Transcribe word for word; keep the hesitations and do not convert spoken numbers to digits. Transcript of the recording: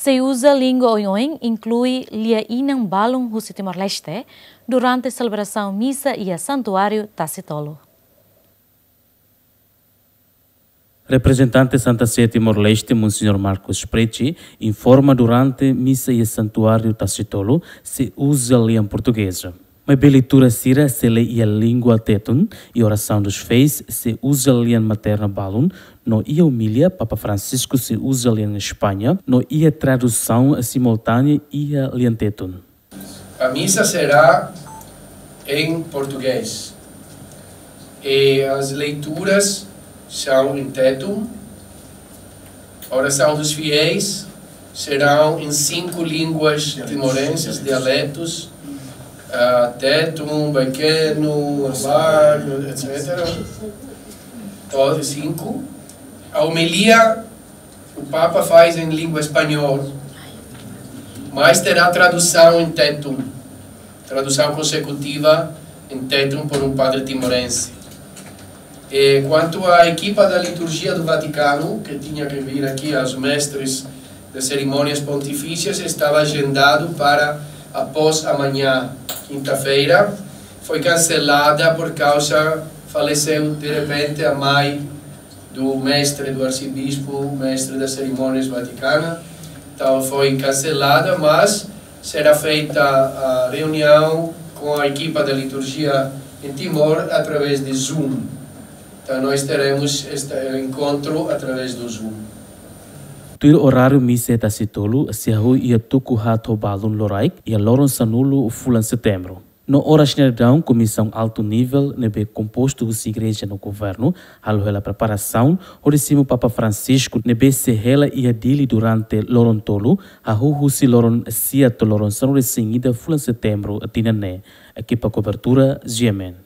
Sei uza língua oioin, inklui lia-inan balun husi Timor-Leste, durante selebrasaun misa iha Santuáriu Tasitolu. Reprezentante Santa Sé Timor-Leste, Monsenhor Marcos Preci, informa durante misa iha Santuáriu Tasitolu sei uza lian portugeza. Maibé leitura sira sei lee iha língua tetun, i orasaun dos fiéis sei uza lian materna balun, no iha omilia Papa Francisco sei uza lian España, no iha tradusaun simultánea iha lian tetun. A misa será em português. E as leituras são em tetun. A oração dos fiéis serão em cinco línguas timorenses, dialetos, ah, tetun, baikeno, abar, etcétera. Todos cinco. A homilia o Papa faz em língua espanhol, mas terá tradução em tetun, tradução consecutiva em tetun por um padre timorense. E quanto à equipa da liturgia do Vaticano, que tinha que vir aqui aos mestres das cerimônias pontifícias, estava agendado para após amanhã, quinta-feira, foi cancelada por causa, faleceu de repente a mãe do mestre, do arcebispo, mestre das cerimônias vaticana. Então foi cancelada, mas será feita a reunião com a equipa da liturgia em Timor através de Zoom. Então nós teremos este encontro através do Zoom. Tuir oráriu misa Tasitolu sei hahú iha tuku haat ho balun loraik iha loron sanulu fulan Setembru. No oras ne'e daudaun, Komisaun Altu Nivel ne'ebé kompostu husi Igreja no Governu halo hela preparasaun hodi simu Papa Francisco ne'ebé sei hela iha Dili durante loron tolu, hahú husi loron sia to'o loron sanulu-resin-ida fulan Setembru tinan ne'e. Ekipa kobertura, G M N.